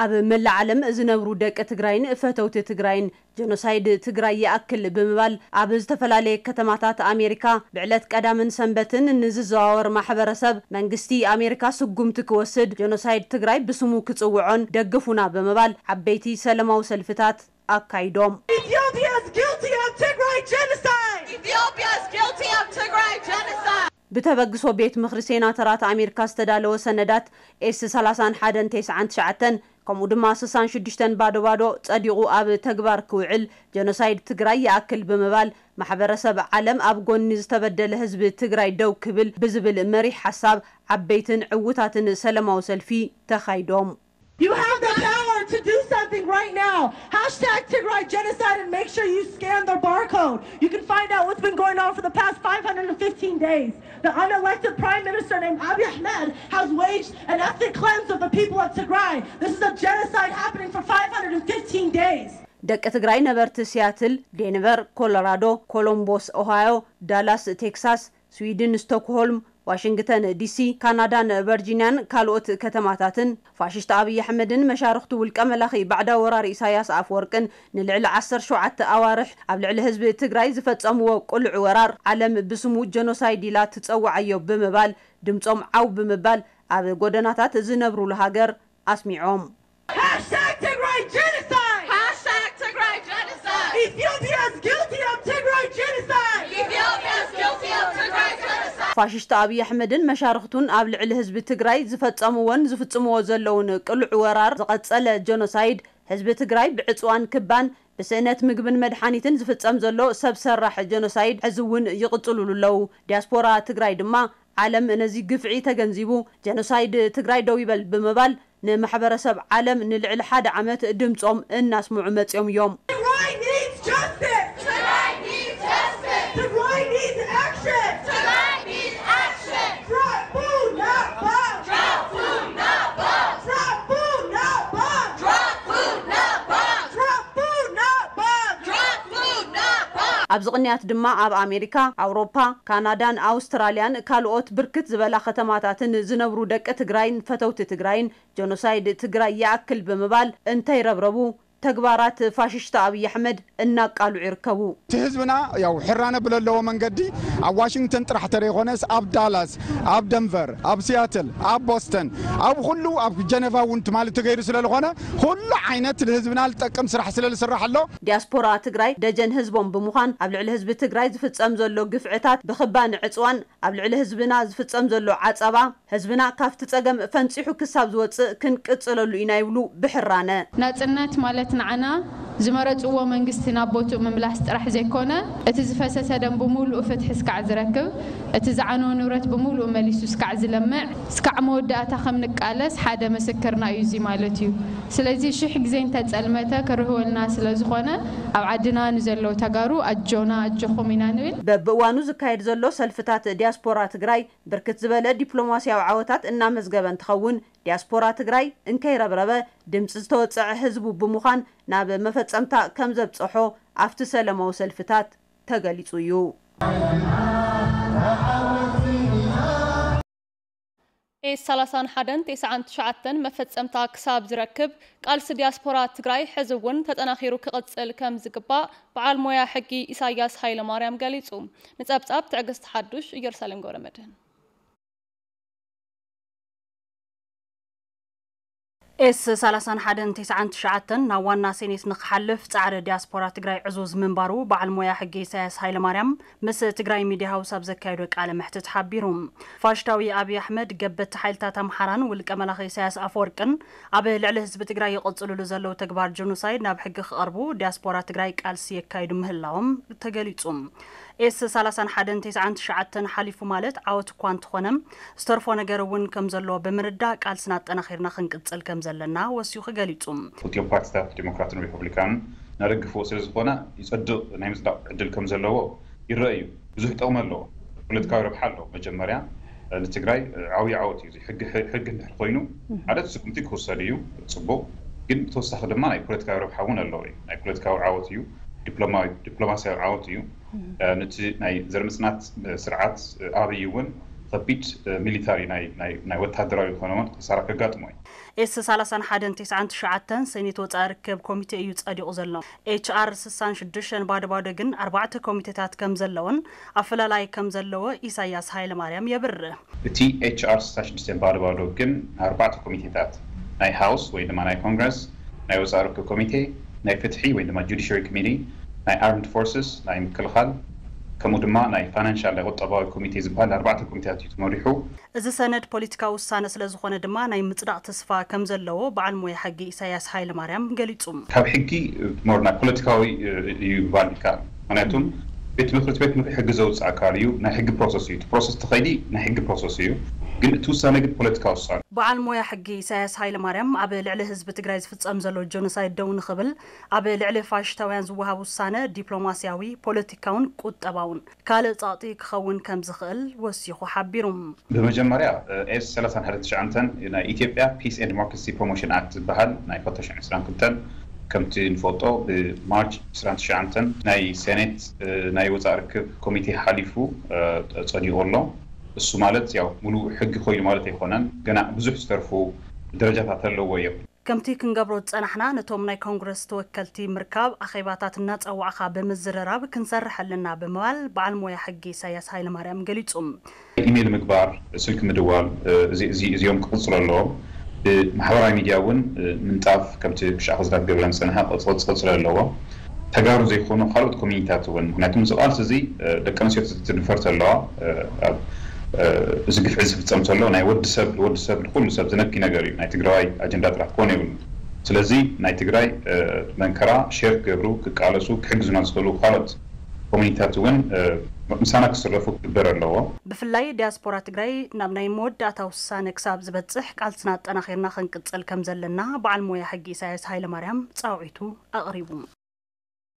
ኣብ መላእ ዓለም ዝነብሩ ደቂ ትግራይን ፈተውቲ ትግራይን ጀኖሳይድ ትግራይ ይኣክል ብምባል ኣብ ዝተፈላለየ ከተማታት ኣሜሪካ ብዕለት ቀዳምን ሰንበትን ንዝዘዋወር ማሕበረሰብ መንግስቲ ኣሜሪካ ስጉምቲ ክወስድ ጀኖሳይድ ትግራይ ብስሙ ክጽውዖን ደግፉና ብምባል ዓበይቲ ሰለማዊ ሰልፍታት ኣካይዶም። Ethiopia is guilty of Tigray genocide. Ethiopia is guilty of Tigray genocide. ብተበግሶ ቤት ምኽሪ ሴናተራት ኣሜሪካ ዝተዳለወ ሰነዳት ኤስ ሰላሳን ሓደን ተስዓን ትሽዓተን ከምኡ ድማ ስሳን ሽዱሽተን ባዶ ባዶ ጸዲቑ ኣብ ተግባር ክውዕል ጀኖሳይድ ትግራይ ይኣክል ብምባል ማሕበረሰብ ዓለም ኣብ ጎኒ ዝተበደለ ህዝቢ ትግራይ ደው ክብል ብዝብል መሪሕ ሓሳብ ዓበይትን ዕውታትን ሰለማዊ ሰልፊ ተኻይዶም። You have the power to do something right now. Hashtag Tigray genocide and make sure you scan their barcode. You can find out what's been going on for the past five hundred fifteen days. The unelected prime minister named Abiy Ahmed has waged an ethnic cleanse of the people of Tigray. This is a genocide happening for five hundred fifteen days. ደቂ ትግራይ ነበርቲ ሲያትል፣ ዴንቨር ኮሎራዶ፣ ኮሎምቦስ ኦሃዮ፣ ዳላስ ቴክሳስ፣ ስዊድን ስቶክሆልም፣ ዋሽንግተን ዲሲ፣ ካናዳን ቨርጂንያን ካልኦት ከተማታትን ፋሽስት ኣብይ ኣሕመድን መሻርኽቱ ውልቀ መላኺ ባዕዳዊ ወራሪ ኢሳያስ ኣፈወርቅን ንልዕሊ ዓሰርተ ሸውዓተ ኣዋርሕ ኣብ ልዕሊ ህዝቢ ትግራይ ዝፈጸምዎ ቅሉዕ ወራር ዓለም ብስሙ ጀኖሳይድ ኢላ ትጸውዓዮ ብምባል ድምጾም ዓው ብምባል ኣብ ጎደናታት ዝነብሩሉ ሃገር ኣስሚዖም። Hashtag Tigray genocide. Hashtag Tigray genocide. Ethiopia is guilty of Tigray genocide. Ethiopia is guilty of Tigray genocide. ፋሽስት ኣብይ ኣሕመድን መሻርኽቱን ኣብ ልዕሊ ህዝቢ ትግራይ ዝፈጸምዎን ዝፍጽምዎ ዘለውን ቅሉዕ ወራር ዝቐጸለ ጀኖሳይድ ህዝቢ ትግራይ ብዕፅዋን ክባን ብስእነት ምግብን መድሓኒትን ዝፍጸም ዘሎ ሰብ ሰራሕ ጀኖሳይድ ሕዚ እውን ይቕፅሉሉ ኣለዉ። ዲያስፖራ ትግራይ ድማ ዓለም ነዚ ግፍዒ ተገንዚቡ ጀኖሳይድ ትግራይ ደው ይበል ብምባል ንማሕበረሰብ ዓለም ንልዕሊ ሓደ ዓመት ድምፆም እናስምዑ መፅዮም እዮም። Tigray needs justice. Tigray needs justice. Tigray needs action. Tigray needs action. Drop food, not bomb. Drop food, not bomb. Drop food, not bomb. Drop food, not bomb. Drop food, not bomb. Drop food, not bomb. ኣብዚ ቅንያት ድማ ኣብ ኣሜሪካ፣ ኣውሮፓ፣ ካናዳን ኣውስትራልያን ካልኦት ብርክት ዝበላ ከተማታትን ዝነብሩ ደቂ ትግራይን ፈተውቲ ትግራይን ጀኖሳይድ ትግራይ ይኣክል ብምባል እንተይረብረቡ ተግባራት ፋሽስት ኣብይ ኣሕመድ እናቃልዑ ይርከቡ። እቲ ህዝብና ያው ሕራነ ብለለዎ መንገዲ ኣብ ዋሽንግተን ጥራሕ ተደይኮነስ ኣብ ዳላስ፣ ኣብ ደንቨር፣ ኣብ ሲያትል፣ ኣብ ቦስተን፣ ኣብ ኩሉ ኣብ ጀኔቫ እውን ትማሊ ተገይሩ ስለዝኾነ ኩሉ ዓይነት ንህዝብና ዝጠቅም ስራሕ ስለዝስራሕ ኣሎ። ዲያስፖራ ትግራይ ደጀን ህዝቦም ብምዃን ኣብ ልዕሊ ህዝቢ ትግራይ ዝፍጸም ዘሎ ግፍዕታት ብኽባን ዕፅዋን ኣብ ልዕሊ ህዝብና ዝፍጸም ዘሎ ዓጸባ ህዝብና ካብቲ ጸገም ፈንፂሑ ክሳብ ዝወፅእ ክንቅፅለሉ ኢና ይብሉ ብሕራነ። ናጽነት ማለት ንዓና ዝመረጽዎ መንግስቲ ናብ ቦትኡ ምምላስ ጥራሕ ዘይኮነ፣ እቲ ዝፈሰሰ ደም ብምሉኡ ፍትሒ እስካዕ ዝረክብ፣ እቲ ዝዓነወ ንብረት ብምሉኡ መሊሱ እስካዕ ዝለምዕ፣ እስካዕ መወዳእታ ከም ንቃለስ ሓደ ምስክርና እዩ እዚ ማለት እዩ። ስለዚ ሽሕ ግዜ እንተጸልመተ ክርህወልና ስለ ዝኾነ፣ ኣብ ዓድና ንዘለዉ ተጋሩ ኣጆና ኣጆኹም ኢና ንብል። በብእዋኑ ዝካየድ ዘሎ ሰልፍታት ዲያስፖራ ትግራይ ብርክት ዝበለ ዲፕሎማስያዊ ዓወታት እናመዝገበ እንትኸውን፣ ዲያስፖራ ትግራይ እንከይረብረበ ድምፂ ዝተወፀዐ ህዝቡ ብምዃን ናብ መፈፀምታ ከም ዘብፀሖ ኣብቲ ሰለማዊ ሰልፍታት ተገሊፁ እዩ። ኤስ ሰላሳን ሓደን ተስዓን ትሽዓተን መፈጸምታ ክሳብ ዝረክብ፣ ቃልሲ ዲያስፖራ ትግራይ ሕዚ እውን ተጠናኺሩ ክቕጽል ከም ዝግባእ በዓል ሞያ ሕጊ ኢሳያስ ሃይለማርያም ገሊጹ። ንጸብጻብ ትዕግስት ሓዱሽ፣ ኢየሩሳሌም ገብረመድህን። ኤስ ሰላሳን ሓደን ተስዓን ትሽዓተን ናብ ዋና ሴኔት ንክሓልፍ ጻዕሪ ዲያስፖራ ትግራይ ዕዙዝ ምንባሩ በዓል ሞያ ሕጊ ኢሳያስ ሃይለማርያም ምስ ትግራይ ሚድያ ሃውስ ኣብ ዘካየዶ ቃለ መሕትት ሓቢሩ። ፋሽስታዊ ኣብይ ኣሕመድ፣ ገበቲ ሓይልታት ኣምሓራን ውልቀ መላኺ ኢሳያስ ኣፈወርቅን ኣብ ልዕሊ ህዝቢ ትግራይ ይቕጽልሉ ዘለዉ ተግባር ጀኖሳይድ ናብ ሕጊ ክቐርቡ ዲያስፖራ ትግራይ ቃልሲ የካይዱ ምህላዎም ተገሊጹ። ኤስ ሰላሳን ሓደን ተስዓን ትሽዓተን ሓሊፉ ማለት ዓወት እኳ እንተኾነ፣ ዝተርፎ ነገር እውን ከም ዘሎ ብምርዳእ ቃልስና ኣጠናኺርና ክንቅጽል ከም ዘለና ወሲኹ ገሊጹ። ክልቲኦም ፓርቲታት ዲሞክራትን ሪፐብሊካንን እናደግፍዎ ስለ ዝኾነ ይጸድቕ ናይ ምጽዳቕ ዕድል ከም ዘለዎ ይረአ እዩ። ብዙሕ ጥቕሚ ኣለዎ። ፖለቲካዊ ረብሓ ኣለዎ። መጀመርያ ንትግራይ ዓብዪ ዓወት እዩ። እዚ ሕጊ፣ ሕጊ እንድሕር ኮይኑ ሓደ ስጉምቲ ክውሰድ እዩ፣ ጽቡቕ። ግን ብተወሳኺ ድማ ናይ ፖለቲካዊ ረብሓ እውን ኣለዎ እዩ። ናይ ፖለቲካዊ ዓወት እዩ፣ ዲፕሎማ-፣ ዲፕሎማስያዊ ዓወት እዩ። ነቲ ናይ ዘርምጽናት ስርዓት ኣብይ እውን ከቢድ ሚሊታሪ ናይ ወታደራዊ ዝኾነ ክሳራ ከጋጥሞ እዩ። ኤስ ሰላሳን ሓደን ቴስዓን ትሽዓተን ሰኔት ወፃኢ ርክብ ኮሚቴ እዩ ፀዲቑ ዘሎ። ኤች ኣር ስሳን ሽዱሽተን ባዶ ባዶ ግን ኣርባዕተ ኮሚቴታት ከም ዘለውን ኣፈላላይ ከም ዘለዎ ኢሳያስ ሃይለማርያም የብርህ። እቲ ኤች ኣር ስሳን ሽዱሽተን ባዶ ባዶ ግን ኣርባዕተ ኮሚቴታት ናይ ሃውስ ወይ ድማ ናይ ኮንግረስ፣ ናይ ወፃኢ ርክብ ኮሚቴ፣ ናይ ፍትሒ ወይ ድማ ጁዲሽሪ ኮሚቴ፣ ናይ ኣርምድ ፎርስስ ናይ ምክልኻል ከምኡ ድማ ናይ ፋይናንሻል ናይ ቁጠባዊ ኮሚቴ ዝበሃል ኣርባዕተ ኮሚቴታት እዩ ተመሪሑ። እዚ ሰነድ ፖለቲካዊ ውሳነ ስለ ዝኾነ ድማ ናይ ምፅዳቕ ተስፋ ከም ዘለዎ በዓል ሞያ ሕጊ ኢሳያስ ሃይለማርያም ገሊጹ። ካብ ሕጊ ሞር ናይ ፖለቲካዊ እዩ ባል ይከኣል። ምክንያቱም ቤት ምክሪ ቤት ምክሪ ሕጊ ዘውፅእ ኣካል እዩ። ናይ ሕጊ ፕሮሰስ እዩ። ፕሮሰስ ተኸይዲ ናይ ሕጊ ፕሮሰስ እዩ። ግን እቲ ውሳነ ግን ፖለቲካዊ ውሳነ። በዓል ሞያ ሕጊ ኢሳያስ ሃይለማርያም ኣብ ልዕሊ ህዝቢ ትግራይ ዝፍጸም ዘሎ ጆኖሳይድ ደው ንኽብል ኣብ ልዕሊ ፋሽስታውያን ዝወሃብ ውሳነ ዲፕሎማስያዊ፣ ፖለቲካውን ቁጠባውን ካልእ ጸቕጢ ክኸውን ከም ዝኽእል ወሲኹ ሓቢሩ። ብመጀመርያ ኤስ ሰላሳን ሓደን ትሽዓተን ናይ ኢትዮጵያ ፒስ ኤንድ ዲሞክራሲ ፕሮሞሽን ኣክት ዝበሃል ናይ ክልተ ሽሕን ዕስራን ክልተን ከምቲ ንፈልጦ ብማርች ዕስራን ትሽዓተን ናይ ሴኔት ናይ ወፃኢ ርክብ ኮሚቴ ሓሊፉ ፀዲቑ ኣሎ። እሱ ማለት ያው ሙሉእ ሕጊ ኮይኑ ማለት ኣይኮነን። ገና ብዙሕ ዝተርፉ ደረጃታት ኣለዎ እዮም። ከምቲ ክንገብሮ ዝፀናሕና ነቶም ናይ ኮንግረስ ተወከልቲ ምርካብ፣ ኣኼባታት እናፀዋዕኻ ብምዝርራብ ክንሰርሕ ኣለና ብምባል በዓል ሞያ ሕጊ ኢሳያስ ሃይለማርያም ገሊፁ። ኢሜይል ምግባር፣ ስልኪ ምድዋል እዚኦም ክቕፅሉ ኣለዎም። ብማሕበራዊ ሚድያ እውን ምንጣፍ ከምቲ ክሻዕ ክዝዳት ገብረን ዝፀንሐ ክቕፅል ኣለዎ። ተጋሩ ዘይኮኑ ካልኦት ኮሚኒታት እውን ምክንያቱም እዚ ቃልሲ እዚ ደቂ ኣንስትዮ ትድፈር ተለዋ እዚ ግፍዒ ዝፍፀም ዘሎ ናይ ወዲ ሰብ ንወዲ ሰብ ንኩሉ ሰብ ዝነኪ ነገር እዩ። ናይ ትግራዋይ ኣጀንዳ ጥራሕ ክኾን የብሉ። ስለዚ ናይ ትግራይ መንከራ ሼር ክገብሩ ክቃለሱ ክሕግዙና ዝኽእሉ ካልኦት ኮሚኒታት እውን ምሳና ክስረፉ ክግበር ኣለዎ። ብፍላይ ዲያስፖራ ትግራይ ናብ ናይ መወዳእታ ውሳነ ክሳብ ዝበፅሕ ቃልስና ኣጠናኺርና ክንቅፅል ከም ዘለና በዓል ሞያ ሕጊ ኢሳያስ ሃይለማርያም ፃውዒቱ ኣቕሪቡ።